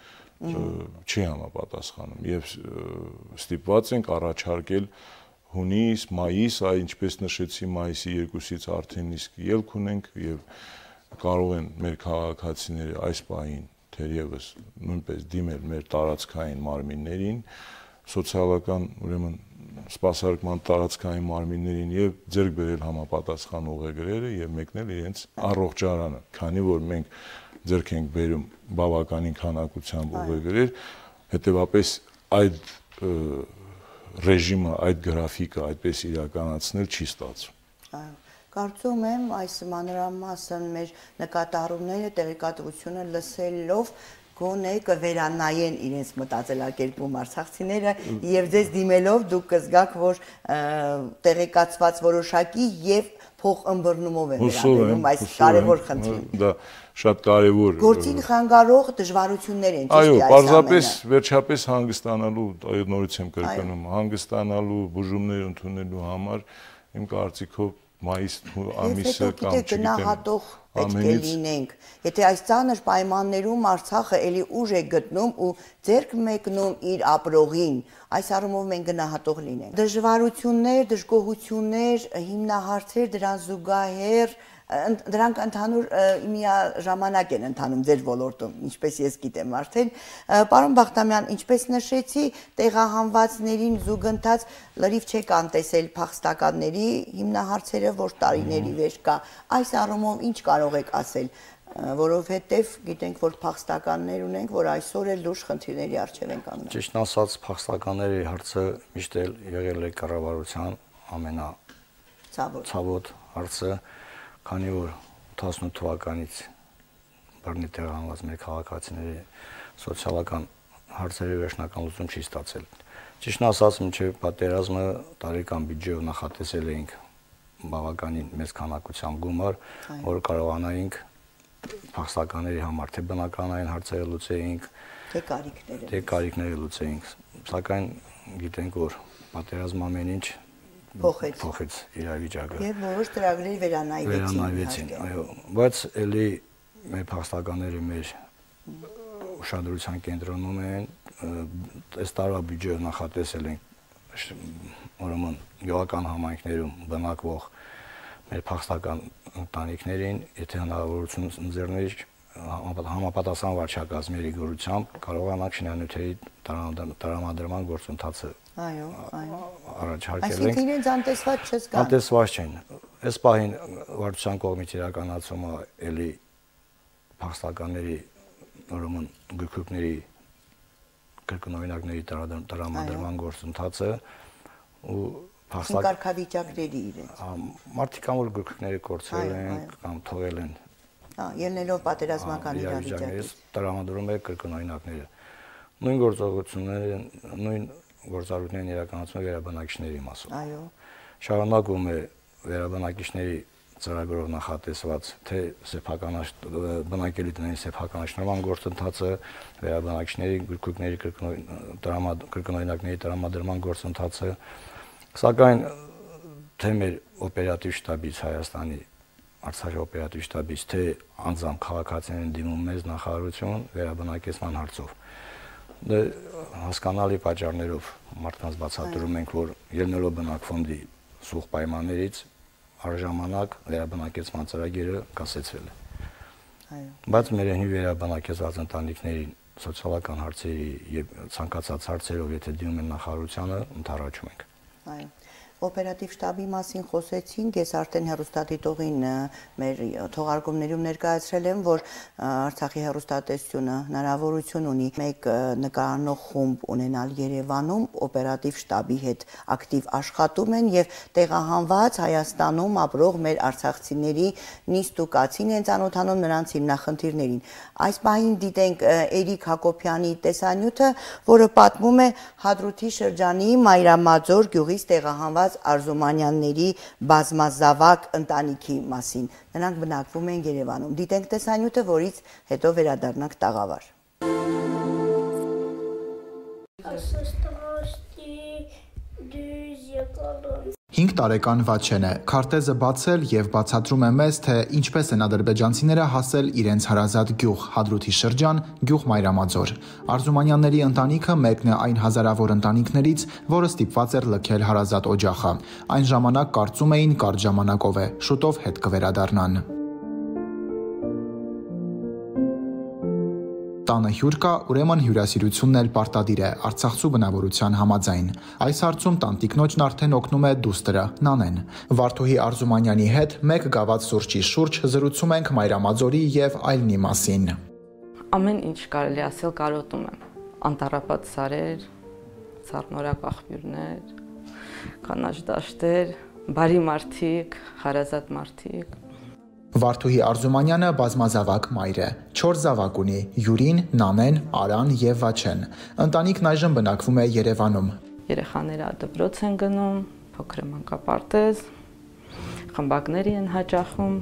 չի համապատասխանում եւ ստիպված ենք առաջարկել հունիս, մայիս, այ ինչպես նշեցի, մայիսի երկուսից արդեն իսկ ելք ունենք եւ կարող են մեր քաղաքացիները այս պահին թերևս նույնպես դիմել մեր տարածքային մարմիններին, սոցիալական ուրեմն սպասարկման տարածքային մարմիններին եւ ձեռք բերել համապատասխան ուղեգրերը եւ մեկնել իրենց առողջարանը, քանի որ մենք ձեռք ենք բերում բավականին քանակությամբ ուղեգրեր, հետեւապես այդ ռեժիմը, այդ գրաֆիկը այդպես իրականացնել չի ստացվում։ Այո, կարծում եմ այս մանրամասն մեր նկատառումները, տեղեկատվությունը լսելով գոնե կվերանայեն իրենց մտածելակերպում արցախցիները եւ ձեզ դիմելով դուք կզգաք, որ տեղեկացված որոշակի եւ փոխըմբռնումով են վերաբերում այս կարևոր խնդրին։ Դա շատ կարևոր գործին խանգարող դժվարություններ են, ճիշտ է այս ամենը։ Այո, պարզապես վերջապես հանգստանալու, այո, նորից եմ կրկնում, հանգստանալու, բուժումներ ընդունելու համար իմ կարծիքով մայիս ամիսը կամ չգիտեմ պետք է լինենք, եթե այս ծանր պայմաններում Արցախը էլի ուժ է գտնում ու ձեռք մեկնում իր ապրողին, այս առումով մենք գնահատող լինենք։ Դժվարություններ, դժգոհություններ, հիմնահարցեր, դրան զուգահեռ դրանք ընդհանուր միաժամանակ են ընթանում ձեր ոլորտում, ինչպես ես գիտեմ արդեն։ Պարոն Բախտամյան, ինչպես նշեցի, տեղահանվածներին զուգընթաց լրիվ չեք անտեսել փախստականների հիմնահարցերը, որ տարիների վեր կա։ Այս առումով ինչ կարող եք ասել, որովհետև գիտենք, որ փախստականներ ունենք, որ այսօր էլ լուրջ խնդիրների առջև են կանգնել։ Ճիշտ ասած, փախստականների հարցը միշտ էլ եղել է կառավարության ամենացավոտ հարցը, քանի որ ութասունութ թվականից բռնի տեղահանված մեր քաղաքացիների սոցիալական հարցերի վերջնական լուծում չի ստացել։ Ճիշտն ասած, մինչև պատերազմը տարեկան բյուջեով նախատեսել էինք բավականին մեծ քանակությամբ գումար, որ կարողանայինք փախստականների համար թե բնականային հարցերը լուծեինք, թե կարիքները, թե կարիքները լուծեինք, սակայն գիտենք, որ պատերազմը ամեն ինչ փոխեց փոխեց իրավիճակը եւ որոշ ծրագրեր վերանայվեցին վերանայվեցին այո բայց էլի մեր փախստականները մեր ուշադրության կենտրոնում են այս տարվա բյուջեով նախատեսել են ուրեմն գյուղական համայնքներում բնակվող մեր փախստական ընտանիքներին եթե հնարավորություն ընձեռներ համապատասխան վարչակազմերի գորությամբ կարողանանք շինանյութերի տրամադրման գործընթացը այո այո առաջարկել ենք այսինքն իրենց անտեսված չզգան անտեսված չեն այս պահին վարչության կողմից իրականացումը էլի փախստականների ուրեմն գույքների կրկնօրինակների տրամադրման գործընթացը ու փախստական կարգավիճակների իրենց մարդիկ կամ որ գույքները կորցրել են կամ թողել են ելնելով պատերազմական իրավիճակից տրամադրում է կրկնօրինակները նույն գործողությունները նույն գործառույթներն իրականացում է վերաբնակիչների մասով այո շարունակվում է վերաբնակիչների ծրագրով նախատեսված թե սեփականաշ բնակելի տների սեփականաշնորհման գործընթացը վերաբնակիչների գույքների կրկնօրինակների տրամադրման գործընթացը սակայն թե մեր օպերատիվ շտաբից Հայաստանի Արցախի օպերատիվ շտաբից թե անձամբ քաղաքացիներին դիմում մեզ նախարարություն վերաբնակեցման հարցով դե հասկանալի պատճառներով մարդկանց բացատրում ենք որ ելնելով բնակֆոնդի սուղ պայմաններից արժանանակ վերաբնակեցման ծրագիրը կասեցվել է այո բայց մեր հնի վերաբնակեցված ընտանիքներին սոցիալական հարցերի եւ ցանկացած հարցերով եթե դիմում են նախարարությանը ընդառաջում ենք այո Օպերատիվ շտաբի մասին խոսեցինք, ես արդեն հեռուստադիտողին մեր թողարկումներում ներկայացրել եմ, որ Արցախի հեռուստատեսությունը հնարավորություն ունի մեկ նկարանող խումբ ունենալ Երևանում, օպերատիվ շտաբի հետ ակտիվ աշխատում են եւ տեղահանված Հայաստանում ապրող մեր արցախցիների նիստ ու կացին են ծանոթանում նրանց հիմնախնդիրներին։ Այս պահին դիտենք Էրիկ Հակոբյանի տեսանյութը, որը պատմում է Հադրութի շրջանի Մայրամաձոր գյուղից տեղահանված Արզումանյանների բազմազավակ ընտանիքի մասին։ Նրանք բնակվում են Երևանում։ Դիտենք տեսանյութը, որից հետո վերադառնանք տաղավար։ հինգ տարեկան Վաչեն է, քարտեզը բացել եւ բացատրում է մեզ, թե ինչպես են ադրբեջանցիները հասել իրենց հարազատ գյուղ Հադրութի շրջան, գյուղ Մայրամաձոր։ Արզումանյանների ընտանիքը մեկն է այն հազարավոր ընտանիքներից, որը ստիպված էր լքել հարազատ օջախը։ Այն ժամանակ կարծում էին կարճ ժամանակով է, շուտով հետ կվերադառնան։ Տանը հյուր կա, ուրեմն հյուրասիրությունն էլ պարտադիր է Արցախցու բնավորության համաձայն։ Այս հարցում տանտիկնոջն արդեն օգնում է դուստրը Նանեն։ Վարդուհի Արզումանյանի հետ մեկ գաված սուրճի շուրջ զրուցում ենք Մայրամաձորի եւ այլնի մասին։ Ամեն ինչ կարելի ասել կարոտում եմ։ Անտառապատ սարեր, ծառնորակ աղբյուրներ, կանաչ դաշտեր, բարի մարդիկ, հարազատ մարդիկ։ Վարդուհի Արզումանյանը բազմազավակ մայր է, չորս զավակ ունի՝ Յուրին, Նանեն, Արան եւ Վաչեն։ Ընտանիքն այժմ բնակվում է Երևանում։ Երեխաները դպրոց են գնում, փոքր մանկապարտեզ, խմբակների են հաճախում։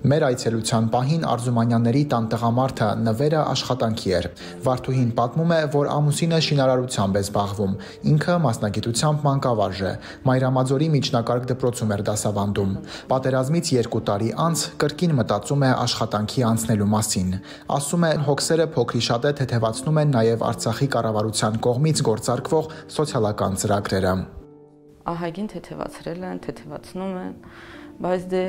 Մեր այցելության պահին Արզումանյանների տան տղամարդը Նվերը աշխատանքի էր։ Վարդուհին պատմում է, որ ամուսինը շինարարությամբ է զբաղվում, ինքը մասնագիտությամբ մանկավարժ է, Մայրամաձորի միջնակարգ դպրոցում էր դասավանդում։ Պատերազմից երկու տարի անց կրկին մտածում է աշխատանքի անցնելու մասին։ Ասում է, հոգսերը փոքրիշատե թեթևացնում են նաև Արցախի կառավարության կողմից գործարկվող սոցիալական ծրագրերը։ Ահագին թեթևացրել են, թեթևացնում են, բայց դե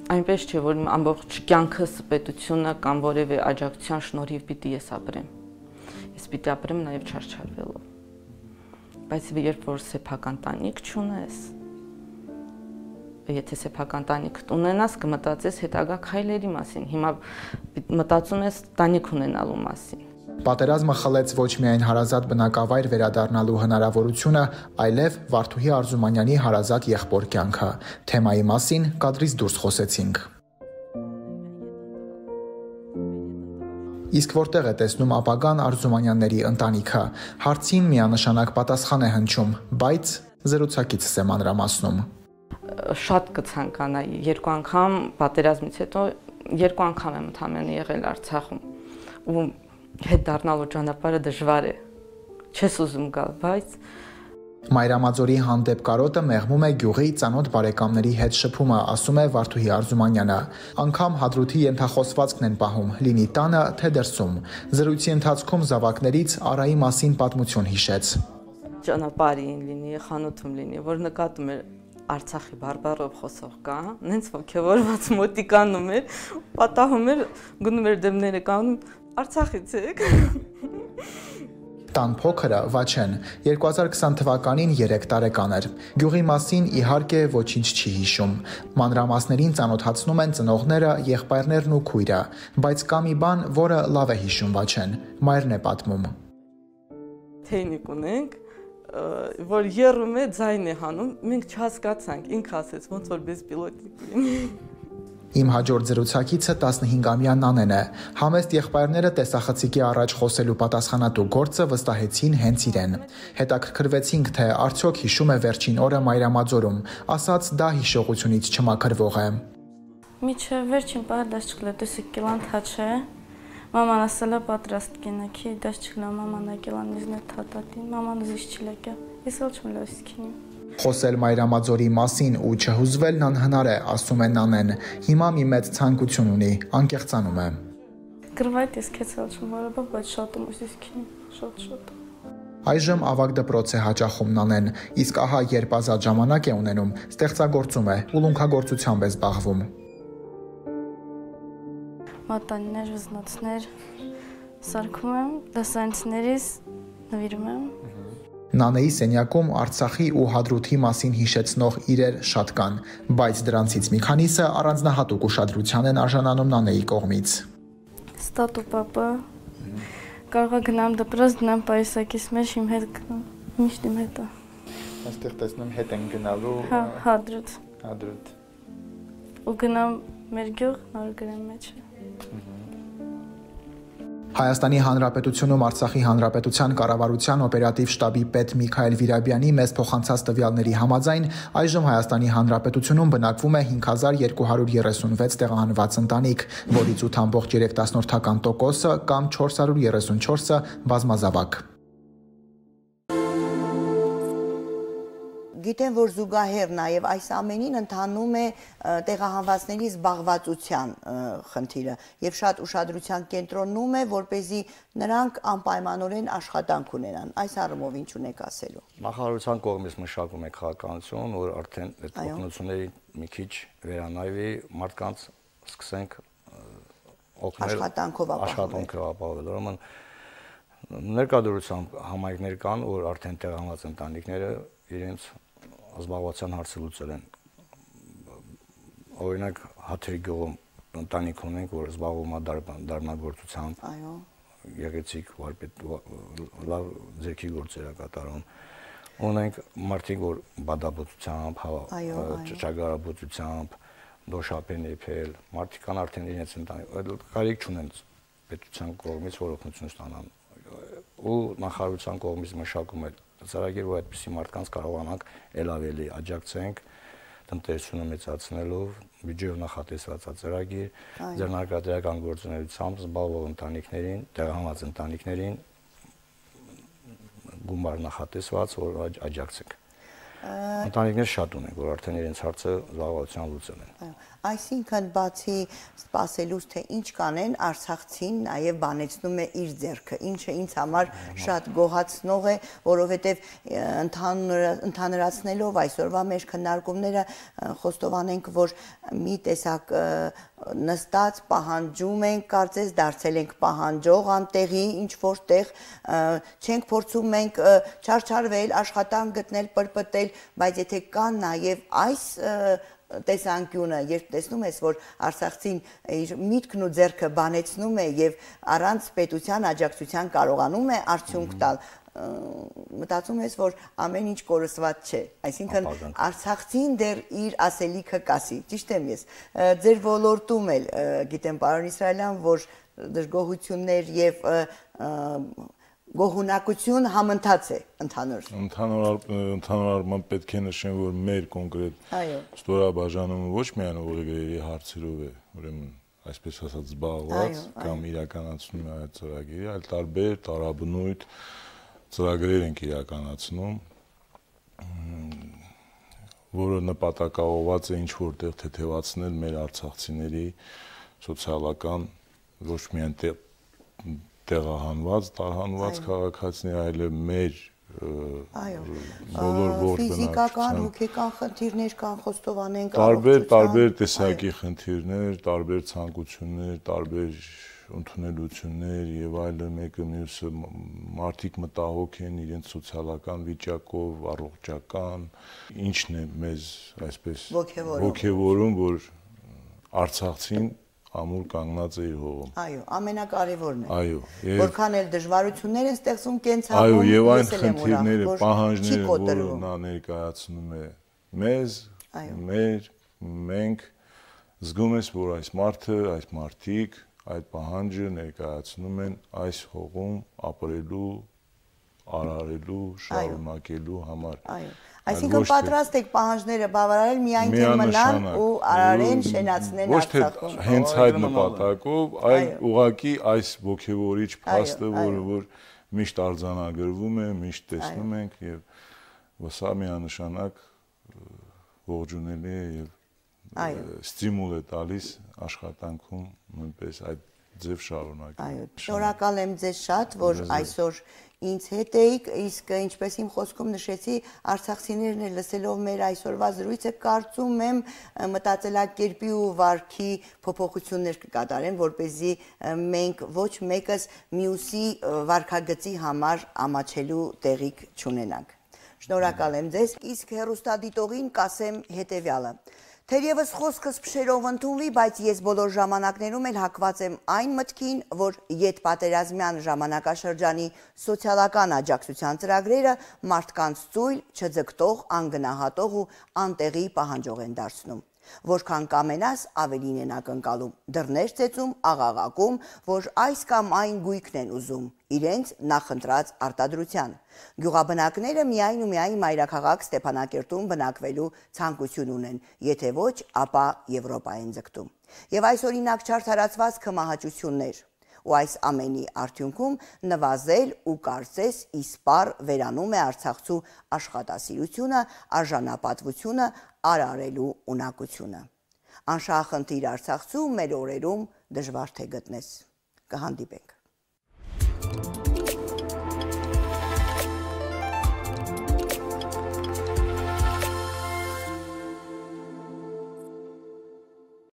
այնպես չէ, որ ամբողջ կյանքս պետությունը կամ որևէ աջակցության շնորհիվ պիտի ես ապրեմ։ Ես պիտի ապրեմ նաև չարչարվելով։ Բայց երբ որ սեփական տանիք չունես, եթե սեփական տանիք ունենաս, կմտածես հետագա քայլերի մասին։ Հիմա մտածում ես տանիք ունենալու մասին։ Պատերազմը խլեց ոչ միայն հարազատ բնակավայր վերադառնալու հնարավորությունը, այլև Վարդուհի Արզումանյանի հարազատ եղբոր կյանքը։ Թեմայի մասին կադրից դուրս խոսեցինք։ Իսկ որտեղ է տեսնում ապագան Արզումանյանների ընտանիքը։ Հարցին միանշանակ պատասխան է հնչում, բայց զրուցակիցս է մանրամասնում։ Շատ կցանկանայի երկու անգամ պատերազմից հետո երկու անգամ եմ ընդամենը եղել Արցախում ու հետ դառնալու ճանապարհը դժվար է, չես ուզում գալ, բայց Մայրամաձորի հանդեպ կարոտը մեղմում է գյուղի ծանոթ բարեկամների հետ շփումը, ասում է Վարդուհի Արզումանյանը։ Անգամ Հադրութի ենթախոսվածքն են պահում, լինի տանը, թե դրսում։ Զրույցի ընթացքում զավակներից Արայի մասին պատմություն հիշեց։ Ճանապարհին լինի, խանութում լինի, որ նկատում էր Արցախի բարբառով խոսող կա, նենց ոգևորված մոտիկանում էր, պատահում էր, գնում էր դեմները կանում, Արցախից եք։ Տան փոքրը Վաչեն երկու հազար քսան թվականին երեք տարեկան էր։ Գյուղի մասին իհարկե ոչինչ չի հիշում։ Մանրամասներին ծանոթացնում են ծնողները, եղբայրներն ու քույրը, բայց կա մի բան, որը լավ է հիշում Վաչեն։ Մայրն է պատմում։ Թեյնիկ ունենք, որ եռում է, ձայն է հանում, մենք չհասկացանք, ինքը ասեց, ոնց որ բեսպիլոտնիկ լինի։ Իմ հաջորդ զրուցակիցը տասնհինգամյա Նանեն է։ Համեստ եղբայրները տեսախցիկի առաջ խոսելու պատասխանատու գործը վստահեցին հենց իրեն։ Հետաքրքրվեցինք, թե արդյոք հիշում է վերջին օրը Մայրամաձորում, ասաց դա հիշողությունից չմաքրվող է։ Միջև վերջին պահը դաշ չկլա, դուսիկ կիլան թաչե, մաման ասել է պատրաստ կինաքի, դաշ չկլա, մաման ակելան իզնե թատատին, մաման զիշ չլեկյա, ես էլ չմ լոսքինի։ Խոսել Մայրամաձորի մասին ու չհուզվելն անհնար է, ասում է Նանեն։ Հիմա մի մեծ ցանկություն ունի, անկեղծանում է։ Գրվայտ ես քեցել չեմ որոբա, բայց շատ եմ ուզիսքին, շատ շատ։ Այժմ ավագ դպրոց է հաճախում Նանեն, իսկ ահա երբ ազատ ժամանակ է ունենում, ստեղծագործում է, ուլունքագործությամբ է զբաղվում։ Մատանիներ, վզնոցներ սարքում եմ, դասարանցիներից նվիրում եմ։ Նանեի սենյակում Արցախի ու Հադրութի մասին հիշեցնող իրեր շատ կան, բայց դրանցից մի քանիսը առանձնահատուկ ուշադրության են արժանանում Նանեի կողմից։ Ստատու պապա, կարող գնամ դպրոց, գնամ պայուսակիս մեջ իմ հետ գնամ, միշտ իմ հետ է։ Այստեղ տեսնում հետ են գնալու։ Հա, Հադրութ։ Հադրութ։ Ու գնամ մեր գյուղ, նոր գրեմ մեջ։ Հայաստանի Հանրապետությունում Արցախի Հանրապետության կառավարության օպերատիվ շտաբի պետ Միքայել Վիրաբյանի մեծ փոխանցած տվյալների համաձայն այժմ Հայաստանի Հանրապետությունում բնակվում է հինգ հազար երկու հարյուր երեսունվեց տեղահանված ընտանիք, որից ութ ամբողջ երեք տոկոսը կամ չորս հարյուր երեսունչորսը բազմազավակ։ Գիտեմ, որ զուգահեռ նաև այս ամենին ընթանում է տեղահանվածների զբաղվածության խնդիրը եւ շատ ուշադրության կենտրոնում է, որպեսզի նրանք անպայմանորեն աշխատանք ունենան։ Այս առումով ինչ ունեք ասելու։ Նախարարության կողմից մշակում է քաղաքականություն, որ արդեն այդ օգնությունների մի քիչ վերանայվի, մարդկանց սկսենք օգնել աշխատանքով ապահովել։ Ուրեմն ներկայությամբ համայնքներ կան, որ արդեն տեղահանված ընտանիքները իրենց զբաղվածության հարցը լուծել են։ Օրինակ Հաթերի գյուղում ընտանիք ունենք, որ զբաղվում է դարմնագործությամբ, գեղեցիկ վարպետ, լավ ձեռքի գործեր է կատարում։ Ունենք մարդիկ, որ բադաբուծությամբ, ճաճագարաբուծությամբ, դոշապեն եփել, մարդիկ կան արդեն իրենց ընտանիք, կարիք չունեն պետության կողմից որ օգնություն ստանան։ Ու նախարարության կողմից մշակում է ծրագիր, որ այդպիսի մարդկանց կարողանանք ել ավելի աջակցենք տնտեսությունը մեծացնելով, բյուջեով նախատեսված ծրագիր, ձեռնարկատիրական գործունեությամբ զբաղվող ընտանիքներին, տեղահանված ընտանիքներին գումար նախատեսված, որ աջակցենք։ Ընտանիքներ շատ ունենք, որ արդեն իրենց հարցը զբաղվածության լուծել են։ Այսինքն բացի սպասելուց, թե ինչ կանեն, արցախցին նաև բանեցնում է իր ձեռքը, ինչը ինձ համար շատ գոհացնող է, որովհետև ընդհանրացնելով այսօրվա մեր քննարկումները խոստովանենք, որ մի տեսակ նստած պահանջում ենք, կարծես դարձել ենք պահանջող անտեղի, ինչ որտեղ չենք փորձում մենք չարչարվել, աշխատանք գտնել, պրպտել, բայց եթե կան նաև այս տեսանկյունը, երբ տեսնում ես, որ արցախցին իր միտքն ու ձեռքը բանեցնում է եւ առանց պետության աջակցության կարողանում է արդյունք տալ, մտածում ես, որ ամեն ինչ կորսված չէ, այսինքն արցախցին դեռ իր ասելիքը կասի, ճիշտ եմ ես, ձեր ոլորտում էլ գիտեմ պարոն Իսրայելյան, որ դժգոհություններ եւ գոհունակություն համընթաց է ընդհանուր։ Ընդհանուր առմամբ պետք է նշեմ, որ մեր կոնկրետ ստորաբաժանումը ոչ միայն ուղեգրերի հարցերով է, ուրեմն այսպես ասած զբաղված կամ իրականացնում է այդ ծրագիրը, այլ տարբեր տարաբնույթ ծրագրեր ենք իրականացնում, որը նպատակաուղղված է ինչ որտեղ թեթևացնել մեր արցախցիների սոցիալական ոչ միայն տեղահանված, տարհանված քաղաքացիներ, այլև մեր բոլոր ողջ ֆիզիկական, հոգեկան խնդիրներ կան, խոստովանենք, տարբեր տարբեր տեսակի խնդիրներ, տարբեր ցանկություններ, տարբեր ընդունելություններ եւ այլն, մեկը մյուսը մարդիկ մտահոգ են իրենց սոցիալական վիճակով, առողջական, ինչն է մեզ այսպես ոգևորում, որ արցախցին ամուր կանգնած է իր հողում։ Այո, ամենակարևորն է։ Այո, որքան էլ դժվարություններ են ստեղծում կենցաղում, այո, եւ այն խնդիրները, պահանջները, որ նա ներկայացնում է մեզ, մեր, մենք զգում ես, որ այս մարդը, այս մարդիկ այդ պահանջը ներկայացնում են այս հողում ապրելու, արարելու, շարունակելու համար։ Այո, այսինքն պատրաստ եք պահանջները բավարարել, միայն թե մնան ու արարեն, շենացնեն Արցախում։ Ոչ թե հենց այդ նպատակով, այլ ուղղակի այս ոգևորիչ փաստը, որը միշտ արձանագրվում է, միշտ տեսնում ենք եւ սա միանշանակ ողջունելի է եւ ստիմուլ է տալիս աշխատանքում նույնպես այդ ձև շարունակենք։ Այո, շնորհակալ եմ ձեզ շատ, որ այսօր ինձ հետ էիք, իսկ ինչպես իմ խոսքում նշեցի, արցախցիներն էլ լսելով մեր այսօրվա զրույցը կարծում եմ մտածելակերպի ու վարքի փոփոխություններ կկատարեն, որպեսզի մենք ոչ մեկս մյուսի վարքագծի համար ամաչելու տեղիք չունենանք։ Շնորհակալ եմ ձեզ, իսկ հեռուստադիտողին կասեմ հետևյալը. Թերևս խոսքս փշերով ընդունվի, բայց ես բոլոր ժամանակներում էլ հակված եմ այն մտքին, որ ետպատերազմյան ժամանակաշրջանի սոցիալական աջակցության ծրագրերը մարդկանց ծույլ, չձգտող, անգնահատող ու անտեղի պահանջող են դարձնում։ Որքան կամենաս ավելին են ակնկալում, դռներ ծեծում, աղաղակում, որ այս կամ այն գույքն են ուզում, իրենց նախընտրած արտադրության։ Գյուղաբնակները միայն ու միայն մայրաքաղաք Ստեփանակերտում բնակվելու ցանկություն ունեն, եթե ոչ, ապա Եվրոպա են ձգտում։ Եվ այս օրինակ չարդարացված քմահաճություններ ու այս ամենի արդյունքում նվազել ու կարծես իսպառ վերանում է արցախցու աշխատասիրությունը, արժանապատվությունը, արարելու ունակությունը։ Անշահախնդիր արցախցու մեր օրերում դժվար թե գտնես։ Կհանդիպենք։